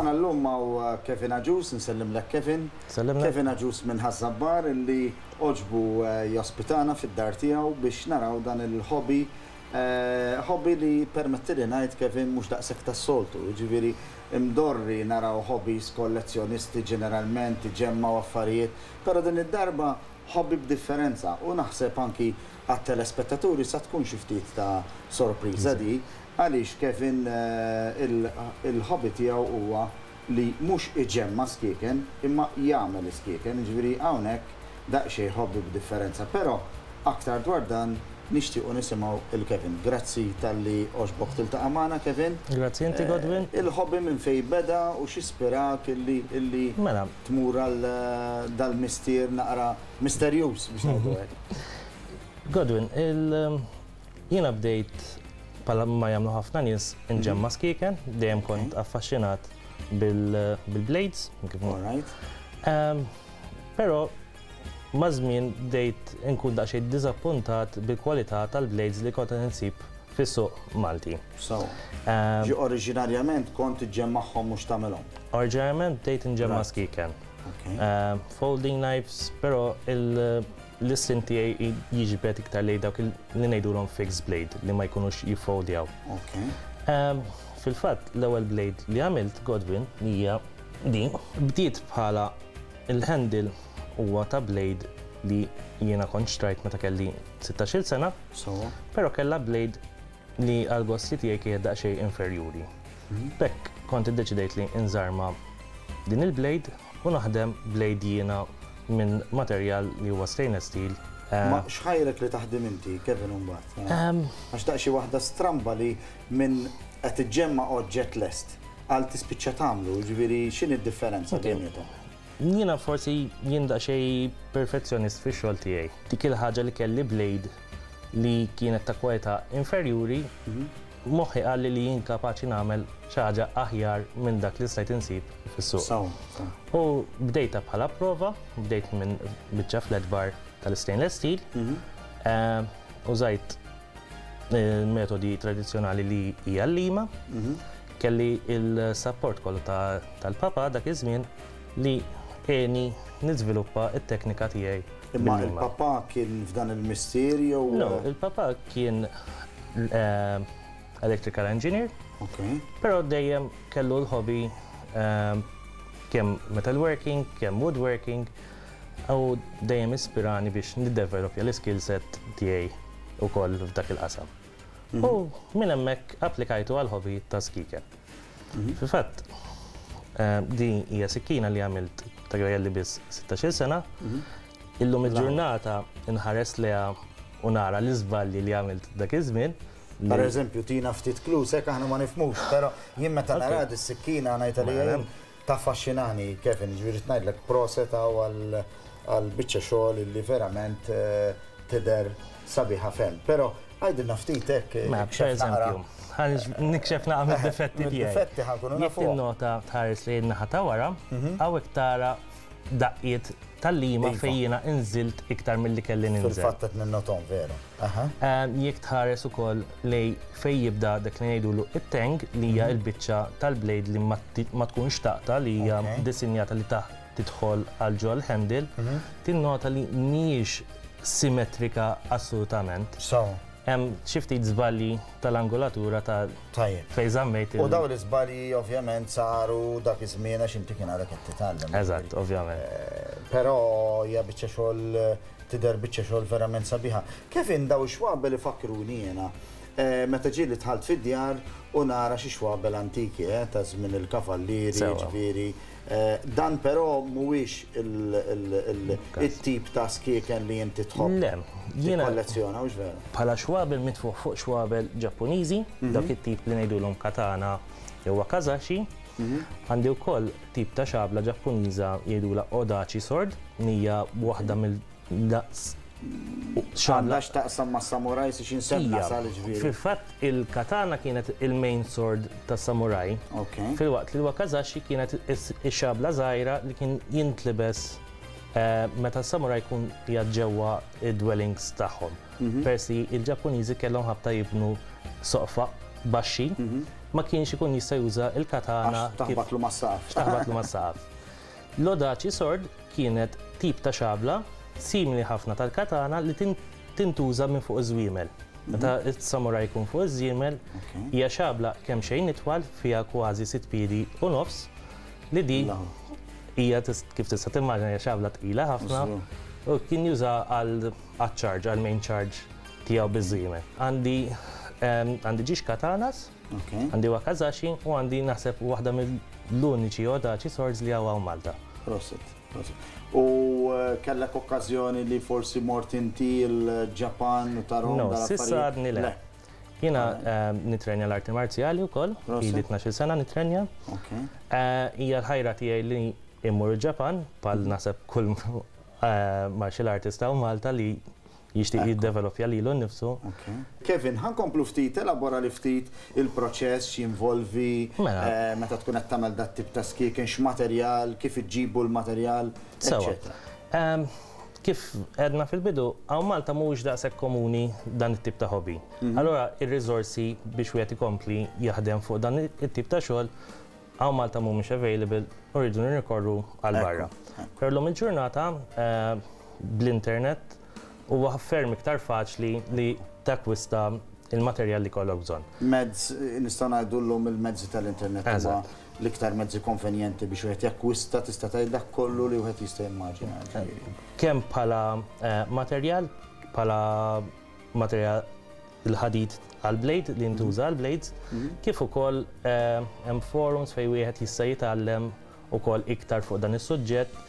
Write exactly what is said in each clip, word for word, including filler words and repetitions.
Magħna llum hawn Kevin Agius, nsellimlek, Kevin. Sellimna. Kevin Agius minn Ħaż-Żabbar, illi għoġbu eh, jospitana fid-dar tiegħu biex naraw dan il-hobby. eh, Hobby li, permetti li ngħid, Kevin, mhux daqshekk tas-soltu. Ġifieri imdorri naraw hobbies kollezzjonisti, ġeneralment iġemmgħu affarijiet, però din id-darba hobby b'differenza u naħseb anki għat-telespettaturi sa tkun xi ftit ta' sorpriża di, għaliex Kevin eh, il- il-hobby tiegħu huwa li mhux iġemma skieken imma jagħmel skieken, ġifieri hawnhekk daqsxejn hobby b'differenza, però aktar dwar dan nixtiequ nisimgħu il-Kevin. Grazzi talli għoġbok tiltaqa' magħna, Kevin. Grazzi inti, Godwin. Eh, Il-hobby minn fejn beda u x'ispirak illi illi Mela, tmur għal eh, dal-mistier naqra misterjuż, biex ngħidu hekk? Godwin, il jiena bdejt bħala ma jagħmlu ħafna nies, inġemma skieken, dejjem kont affaxxinat bil- bil-blades. kif All right. Ehm, Però ma' żmien bdejt inkun daqsxejn diżappuntat bil-kwalità tal-blades li kont qed insib fis-suq Malti. So, Ehm, ġi oriġinarjament kont iġġemmagħhom, mhux tagħmelhom? Oriġinarjament bdejt inġemma Right. skieken. Okay. Ehm, folding knives, però il- l-istin tiegħi jiġbed iktar lejn dawk il- li ngħidulhom fixed blade, li ma jkunux jiffoldjaw. Okay. Ehm, Fil-fatt, l-ewwel blade li għamilt, Godwin, li hija din, bdiet bħala il-handle huwa ta' blade li jiena kont xtrajt meta kelli sittax-il sena, So, però kellha blade li għal-gosti tiegħi kienet daqsxejn inferjuri. B'hekk kont iddeċidejt li nżarma din il-blade u naħdem blade jiena minn materjal li huwa stainless steel. Eh, Ma x'ħajrek li taħdem inti, Kevin, mbagħad? ehm, Għax daqsxi waħda stramba li minn qed iġġemma oġġett lest għal tispiċċa tagħmlu, ġifieri x'inhi d-differenza Ok. bejniethom? Jiena forsi jien daqsxejn perfezzjonist fix-xogħol tiegħi. Dik il-ħaġa li kelli blade li kienet ta' kwalità inferjuri, moħħi qalli li jien kapaċi nagħmel xi ħaġa aħjar minn dak li stajt insib fis-suq. Saw, saw. U bdejta bħala prova, bdejt minn biċċa flat bar tal-stainless steel, eh, użajt il-metodi tradizzjonali li hija l-lima, kelli il-support kollu ta- tal-papa dak iż-żmien li għeni niżviluppa it-teknika tiegħi Imma bil-lima. il-papa kien f'dan il-mistier jew? No, il-papa kien eh, electrical engineer, Ok. però dejjem kellu l-hobby eh, kemm metalworking, kemm woodworking, u dejjem ispirani biex niddevelopja l-skill set tiegħi ukoll f'dak il-qasam. U minn hemmhekk applikajtu għal hobby ta' skieken. Fil-fatt, eh, din hija sikkina li għamilt ta' kelli biss sittax-il sena. Illum il-ġurnata nħares lejha u nara l-iżbalji li għamilt dak iż-żmien. Per eżempju, tina ftit clues, hekk aħna ma nifhmux, però jien meta Ok. nara is-sikkina ngħid li Mela. jien taffaxxinani, Kevin, ġifieri ngħidlek proset għal għal biċċa xogħol li verament eh, tidher sabiħa ferm. Però għajdilna ftit hekk. Ma, per eżempju, ħa nikxef naqra mid-difetti tiegħi. Mid-difetti ħa nkunu Jekk nafuhom. tinnota, tħares li naħa ta' wara, hawnhekk tara daqqiet tal-lima Iva. fejn jiena inżilt iktar milli kelli ninżel. Fil-fatt qed ninnotom, veru. Aha. Ehm, Jekk tħares ukoll lej fejn jibda dak li ngħidulu it-tang, li hija l-biċċa tal-blade li ma ti- ma tkunx taqta, li hija Ok. disinjata li taħt tidħol għal ġol handle, tinnota li mhijiex simmetrika assolutament. So, Hemm xi ftit żbalji tal-angolatura ta' tajjeb. fejn żammejt U il- dawn l-iżbalji ovvjament saru dak iż-żmien għax inti kien għadek qed titgħallem. Eżatt, ovvjament. Eh, Però hija biċċa xogħol, tidher biċċa xogħol verament sabiħa. Kevin, daw ix-xwabel ifakruni jiena eh, meta ġieli dħalt fid-djar u nara xi xwabel antiki eh, ta' żmien il-kavallieri, Sewa. ġifieri. Eh, Dan però mhuwiex il- il- il- it-tip ta' skieken li inti tħobb Le, jiena tikkollezzjona, hux veru? bħala xwabel mitfuq fuq xwabel Ġappuniżi, dak it-tip li ngħidulhom katana jew wakizashi. Għandi wkoll tip ta' xabla Ġappuniża jgħidulha odachi sword, hija waħda mill-daqs xabla. Għandha x'taqsam ma' samurai si xi nsemma Hija. sal, ġifieri? Fil-fatt, il-katana kienet il-main sword tas samurai, Ok. filwaqt li l-wakizashi kienet is- ix-xabla żgħira li kien jintlibes eh, meta s-samurai jkun qiegħed ġewwa id-dwellings tagħhom. Persi il-Ġappuniżi kellhom ħabta jibnu soqfa baxxi. ma kienx ikun jista' juża il-katana. Għax taħbatlu mas-saqaf. Taħbatlu mas-saqaf. L-odachi sword kienet tip ta' xabla simili ħafna tal-katana li tintuża minn fuq iż-żwiemel. Meta s-samurai jkun fuq iż-żwiemel, hija xabla kemm xejn itwal, fiha kważi sitt piedi u nofs, li di hija, kif tista' timmaġina, hija xabla tqila ħafna u kien juża għal charge, għal main charge tiegħu biż-żwiemel. Għandi għandi ġiex katanas, għandi wakazashi u għandi naħseb waħda mill-uniċi odachi swords li hawn Malta. Prosit, prosit. U kellek okkażjoni li forsi mort inti l-Ġapan u tarahom? No, s'issa għadni le. Jiena nitrenja l-arti marzjali wkoll, ili tnax-il sena nitrenja. Hija l-ħajra tiegħi li immur il-Ġapan, bħal naħseb kull martial artist hawn Malta li jixtieq jiddevelopja lilu nnifsu. Kevin, ħa nkomplu ftit, elabora li ftit il-proċess x'jinvolvi meta tkun qed tagħmel dat tip ta' skieken, x'materjal, kif iġġibu l-materjal, eċċetera. Kif għedna fil-bidu, hawn Malta mhuwiex daqshekk komuni dan it-tip ta' hobby. Allora ir-riżorsi biex wieħed ikompli jaħdem fuq dan it-tip ta' xogħol hawn Malta mhumiex available u rridu nirrikorru għal barra. Però llum il-ġurnata bl-internet huwa ferm iktar faċli li takwista il-materjal li kollok bżonn. Mezz, nistgħu ngħidu llum il-mezzi tal-internet huma l-iktar mezzi konvenjenti biex wieħed jakkwista, tista' tgħid, dak kollu li wieħed jista' jimmaġina. Kemm bħala materjal, bħala materjal il-ħadid għal-blade li ntuża għal-blades, kif ukoll hemm forums fejn wieħed jista' jitgħallem ukoll iktar fuq dan is-suġġett,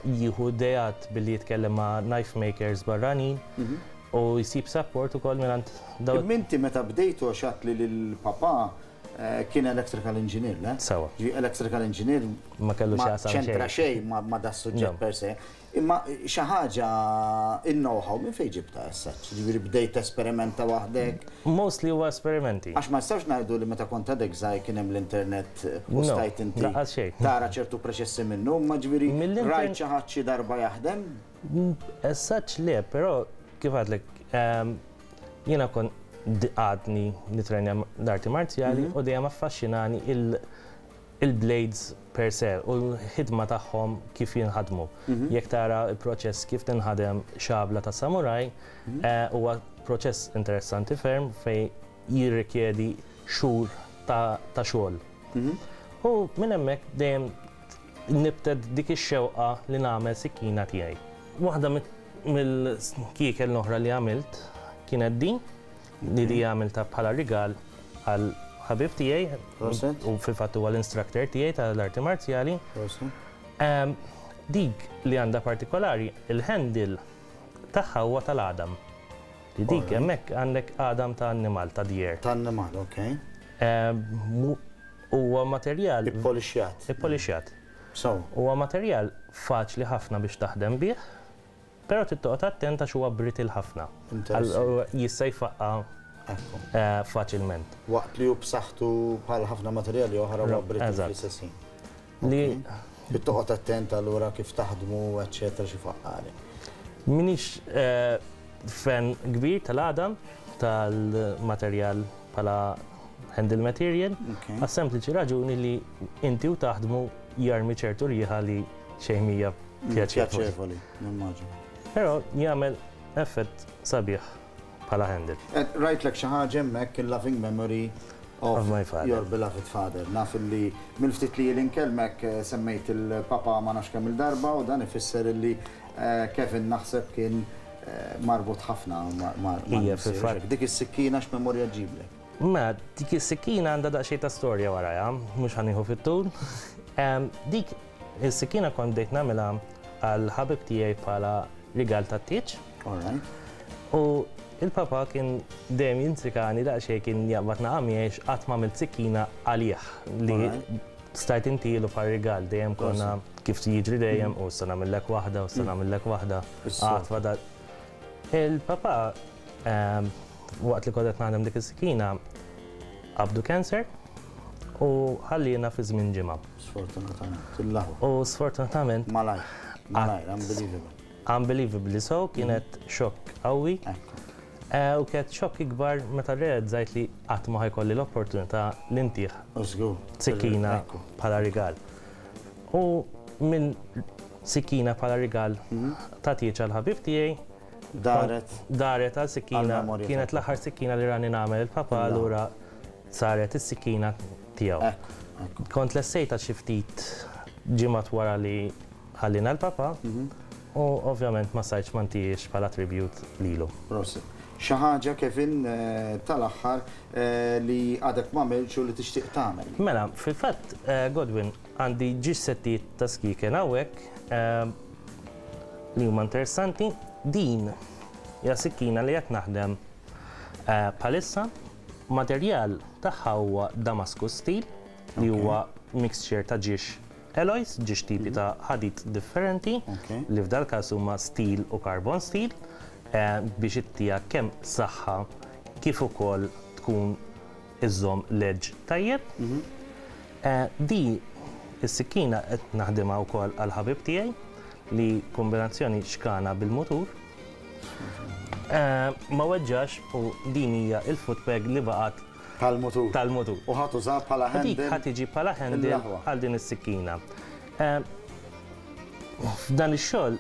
jieħu ideat billi jitkellem ma' knife makers barranin u jsib support ukoll mingħand daw. Inti meta bdejtu, għax li l-papa kien electrical engineer, le? Sewa. Ġi electrical engineer ma kellu ma x'jaqsam ċentra xejn. Xejn ma ma da suġġett per se. Imma xi ħaġa, il-know-how minn fejn ġibta issa? Ġifieri bdejt esperimenta waħdek? Mostly huwa esperimenti. Għax ma nistax ngħidu li meta kont għadek żgħir kien hemm l-internet u No, stajt inti lanqas xejn. tara ċertu proċessi minnu, ma ġifieri Mill-internet- rajt xi ħadd xi darba jaħdem? As such le, però kif għedtlek, ehm, jiena kon għadni nitrenja l-arti marzjali u dejjem affaxxinani il- il-blades per se u l-ħidma tagħhom kif jinħadmu. Jekk tara il-proċess kif tinħadem xabla ta' samurai, eh, huwa proċess interessanti ferm fej jirrikjedi xhur ta' ta' xogħol. U minn hemmhekk dejjem nibtet dik ix-xewqa li nagħmel sikkina tiegħi. Waħda mill-skieken l-oħra li għamilt kienet din, li di għamilta bħala rigal għal ħabib tiegħi Prosit. u fil-fatt huwa l-instructor tiegħi tal-arti marzjali. Em, Dik li għandha partikolari, il-handle tagħha huwa tal-għadam. Li dik Alright. hemmhekk għandek għadam ta' annimal, ta' deer. Ta' annimal, ok. Em, mu- Huwa materjal Ippolixjat. Ippolixjat. So, Huwa materjal faċli ħafna biex taħdem bih, però trid toqgħod attent għax huwa brittle ħafna. Interesting. Għal- Jista' jfaqqa Ekku. eh, faċilment. Waqt li hu b'saħħtu bħal ħafna materjali oħra huwa brittle Eżatt. fl-istess ħin. Li Trid toqgħod attent allura kif taħdmu, eċċetera, xi faqqali. Minix eh, fan kbir tal-għadam, tal-materjal bħala handle material, Ok. għas sempliċi raġuni li inti u taħdmu jarmi ċertu riħa li xejn mija pjaċevoli. Pjaċevoli, nimmaġina. Però jagħmel effett sabiħ bħala handle. Eh, Rajtlek xi ħaġa hemmhekk, il-loving memory of, Of my father. Your beloved father. Naf li mill-ftit li l-inkellmek eh, semmejt il-papa ma nafx kemm il-darba u dan ifisser illi eh, Kevin naħseb kien eh, marbut ħafna ma' ma' ma' Ija, missier. fil-fatt. Dik is-sikkina x'memorja ġiblek? Ma dik is-sikkina għandha daqsxejn ta' storja warajha, mhux ħa nieħu fit-tul. Em, Dik is-sikkina kont bdejt nagħmilha għal ħabib tiegħi bħala rigal ta' tieġ. All right. U il-papa kien dejjem jintrikani daqsxejn, kien jaqbad naqamiex qatt ma għamilt sikkina għalih li Alright. stajt intilu bħal rigal. Dejjem konna kif jiġri dejjem u sa nagħmellek waħda u sa nagħmellek waħda. Is-soltu. Qatt fadal. Il-papa ehm, waqt li kont qed naħdem dik is-sikkina qabdu cancer u ħallina fi żmien ġimgħa. Sfortunatament. Il-lahu. U sfortunatament Malajr. Malajr, unbelievable. Unbelievably so, kienet xokk qawwi. Ekku. Eh, U kienet xokk ikbar meta realizzajt li qatt ma ħa jkolli l-opportunità li ntih Żgur. sikkina Ekku. bħala rigal. U minn sikkina bħala rigal ta' tieġ għal ħabib tiegħi Daret. Daret għal sikkina, Għal-memorja kienet ta' l-aħħar sikkina li rani nagħmel il-papa, La. allura saret is-sikkina tiegħu. Ekku, ekku. Kont lestejtha xi ftit ġimgħat wara li ħallina l-papa u ovvjament ma stajtx ma ntihiex bħala tribute lilu. Prosit. Xi ħaġa, Kevin, eh, tal-aħħar eh, li għadek ma għamiltx u li tixtieq tagħmel. Mela, fil-fatt, eh, Godwin, għandi żewġ settijiet ta' skieken hawnhekk eh, li huma interessanti. Din hija sikkina li qed naħdem eh, bħalissa. Materjal tagħha huwa Damascus steel li Ok. huwa mixture ta' żewġ alloys, żewġ tipi ta' ħadid differenti Ok. li f'dal każ huma steel u carbon steel eh, biex ittiha kemm saħħa kif ukoll tkun iżżomm l-edge tajjeb. Eh, Di is-sikkina qed naħdimha wkoll għal ħabib tiegħi li kombinazzjoni xkana bil-mutur. Eh, Ma weġġax u din hija il-footpeg li baqgħet Tal-mutur. tal-mutur. U ħa tuża bħala Dik handle. ħa tiġi bħala handle Il-laħwa. għal din is-sikkina. Eh, F'dan ix-xogħol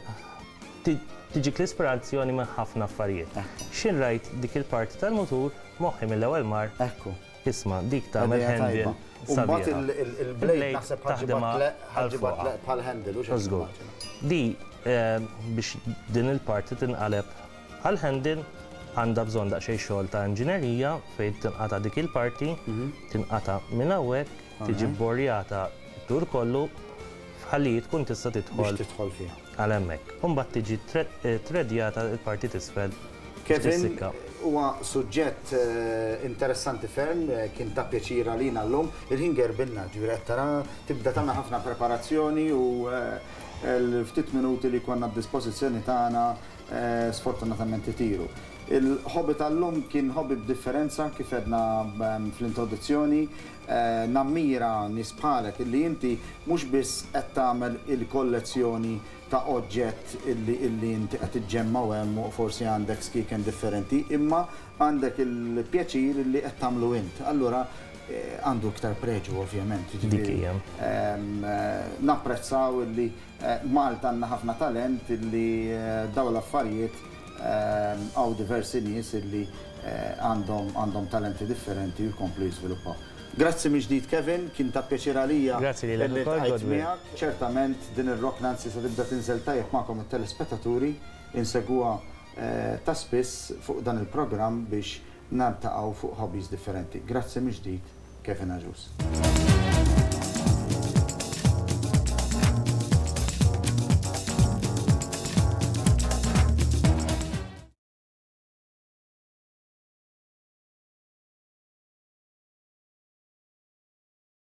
ti- tiġik l-ispirazzjoni minn ħafna affarijiet. X'ħin rajt dik il-parti tal-mutur, moħħi mill-ewwel mar, Ekku. isma', dik tagħmel Idea handle tajba. U mbagħad sabiħa. il- il- il-blade Il-blade naħseb taħdimha ħa ġġibha għal fuqha. bħal handle u xi Żgur. Di eh, biex din il-parti tinqaleb għal handle għandha bżonn daqsxejn xogħol ta' inġinerija fejn tinqata' dik il-parti, tinqata' minn hawnhekk, tiġi borjata tur kollu ħalli tkun tista' Biex tidħol tidħol fiha. għal hemmhekk. U mbagħad tiġi tre- eh, tredjata il-parti t'isfel biex Kevin, tissikka. Huwa suġġett eh, interessanti ferm, eh, kien ta' pjaċir għalina llum. Il-ħin gerbilna, ġifieri qed tara tibda tagħmel ħafna preparazzjoni u eh, l-ftit minuti li konna d-dispożizzjoni tagħna eh, sfortunatament itiru. Il-hobby tal-lum kien hobby b'differenza, kif għedna ehm, fl-introduzzjoni, eh, nammira nies bħalek illi inti mhux biss qed tagħmel il-kollezzjoni ta' oġġett illi illi inti qed iġġemma u hemm u forsi għandek skieken differenti, imma għandek il-pjaċir illi qed tagħmlu int. Allura eh, għandu iktar preġu, ovvjament. Dik Jiġifieri, hija. ehm, eh, napprezzaw illi eh, Malta għandna ħafna talent illi eh, daw l-affarijiet ehm, hawn diversi nies illi eh, għandhom għandhom talenti differenti u jkomplu jiżviluppaw. Grazzi mill-ġdid, Kevin, kien ta' pjaċir għalija Grazzi lilek illi ukoll, ltqajt Godwin. miegħek. Ċertament din ir-rokna anzi se tibda tinżel tajjeb magħkom it-telespettaturi, insegwuha eh, ta' spiss fuq dan il-programm biex niltaqgħu fuq hobbies differenti. Grazzi mill-ġdid, Kevin Agius.